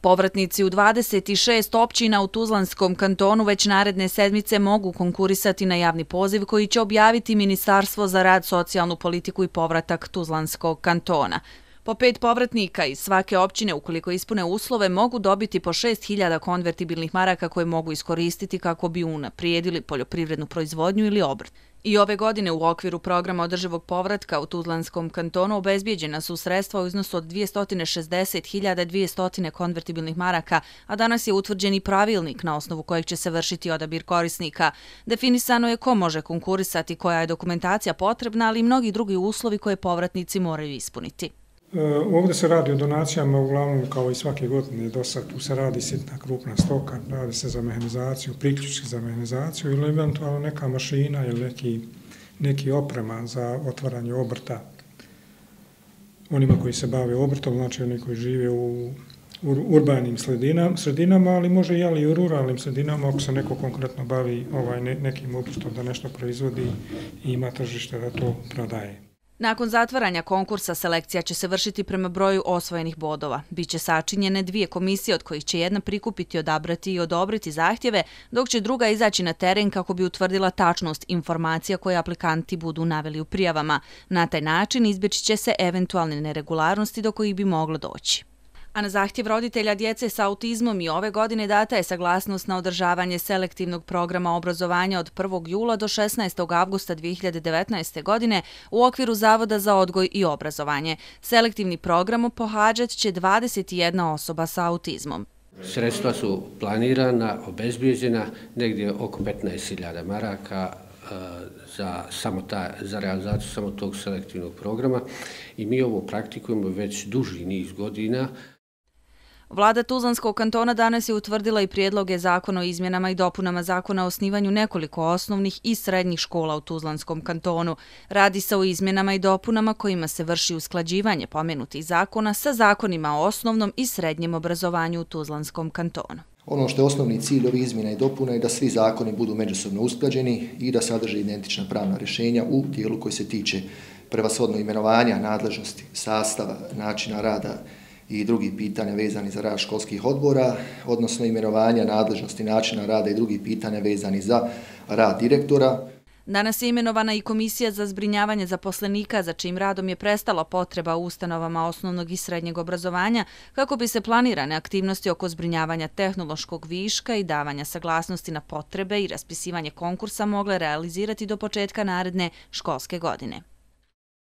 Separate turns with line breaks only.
Povratnici u 26 općina u Tuzlanskom kantonu već naredne sedmice mogu konkurisati na javni poziv koji će objaviti Ministarstvo za rad, socijalnu politiku i povratak Tuzlanskog kantona. Po 5 povratnika iz svake općine, ukoliko ispune uslove, mogu dobiti po 6.000 konvertibilnih maraka koje mogu iskoristiti kako bi unaprijedili poljoprivrednu proizvodnju ili obrt. I ove godine u okviru programa održivog povratka u Tuzlanskom kantonu obezbijeđena su sredstva u iznosu od 260.200 konvertibilnih maraka, a danas je utvrđen i pravilnik na osnovu kojeg će se vršiti odabir korisnika. Definisano je ko može konkurisati, koja je dokumentacija potrebna, ali i mnogi drugi uslovi koje povratnici moraju ispuniti.
Ovdje se radi o donacijama, uglavnom kao i svake godine do sad. Tu se radi sitna krupna stoka, radi se za mehanizaciju, priključki za mehanizaciju ili eventualno neka mašina ili neki oprema za otvaranje obrta. Onima koji se bave obrtom, znači oni koji žive u urbanim sredinama, ali može i u ruralnim sredinama ako se neko konkretno bavi nekim obrtom da nešto proizvodi i ima tržište da to prodaje.
Nakon zatvaranja konkursa selekcija će se vršiti prema broju osvojenih bodova. Biće sačinjene 2 komisije od kojih će jedna prikupiti, odabrati i odobriti zahtjeve, dok će druga izaći na teren kako bi utvrdila tačnost informacija koje aplikanti budu naveli u prijavama. Na taj način izbjeći će se eventualne neregularnosti do kojih bi moglo doći. A na zahtjev roditelja djece sa autizmom i ove godine data je saglasnost na održavanje selektivnog programa obrazovanja od 1. jula do 16. avgusta 2019. godine u okviru Zavoda za odgoj i obrazovanje. Selektivni program pohađat će 21 osoba sa autizmom.
Sredstva su planirana, obezbijeđena, negdje oko 15.000 maraka za realizaciju samo tog selektivnog programa i mi ovo praktikujemo već duži niz godina.
Vlada Tuzlanskog kantona danas je utvrdila i prijedloge zakona o izmjenama i dopunama zakona o osnivanju nekoliko osnovnih i srednjih škola u Tuzlanskom kantonu. Radi se o izmjenama i dopunama kojima se vrši usklađivanje pomenutih zakona sa zakonima o osnovnom i srednjem obrazovanju u Tuzlanskom kantonu.
Ono što je osnovni cilj ovih izmjena i dopuna je da svi zakoni budu međusobno usklađeni i da sadrže identična pravna rješenja u dijelu koji se tiče prevashodno imenovanja, nadležnosti, sastava, načina rada i drugih pitanja vezani za rad školskih odbora, odnosno imenovanja, nadležnosti, načina rada i drugih pitanja vezani za rad direktora.
Danas je imenovana i Komisija za zbrinjavanje zaposlenika, za čijim radom je prestala potreba u ustanovama osnovnog i srednjeg obrazovanja, kako bi se planirane aktivnosti oko zbrinjavanja tehnološkog viška i davanja saglasnosti na potrebe i raspisivanje konkursa mogle realizirati do početka naredne školske godine.